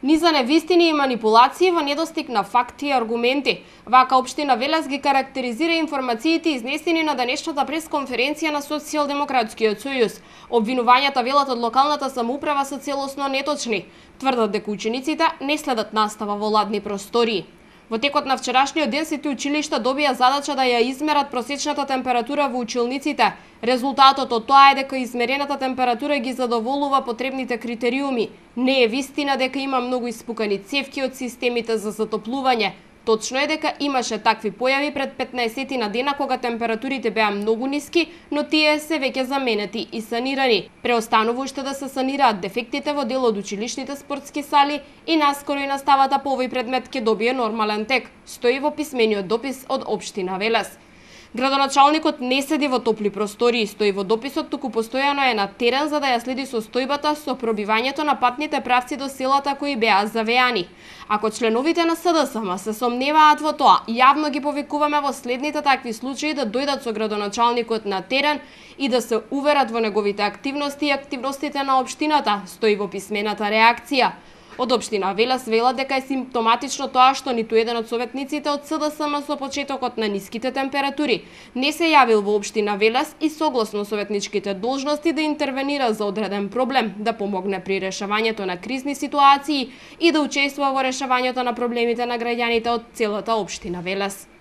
Низа невистини и манипулации во недостиг на факти и аргументи. Вака општина Велес ги карактеризира информациите изнесени на денешната пресконференција на Социјалдемократскиот сојуз. Обвинувањата велат од локалната самоуправа се целосно неточни. Тврдат дека учениците не следат настава во ладни простории. Во текот на вчерашниот ден сите училишта добија задача да ја измерат просечната температура во училниците. Резултатот од тоа е дека измерената температура ги задоволува потребните критериуми. Не е вистина дека има многу испукани цевки од системите за затоплување. Точно е дека имаше такви појави пред 15 на дена кога температурите беа многу ниски, но тие се веќе заменети и санирани. Преостанува уште да се санираат дефектите во дел од училишните спортски сали и наскоро и наставата по овој предмет ќе добие нормален тек, стои во писмениот допис од општина Велес. Градоначалникот не седи во топли простории, стои во дописот, туку постојано е на терен за да ја следи состојбата со пробивањето на патните правци до селата кои беа завеани. Ако членовите на СДСМ се сомневаат во тоа, јавно ги повикуваме во следните такви случаи да дојдат со градоначалникот на терен и да се уверат во неговите активности и активностите на општината, стои во писмената реакција. Од општина Велес велат дека е симптоматично тоа што ниту еден од советниците од СДСМ со почетокот на ниските температури не се јавил во општина Велес и согласно советничките должности да интервенира за одреден проблем, да помогне при решавањето на кризни ситуации и да учествува во решавањето на проблемите на граѓаните од целата општина Велес.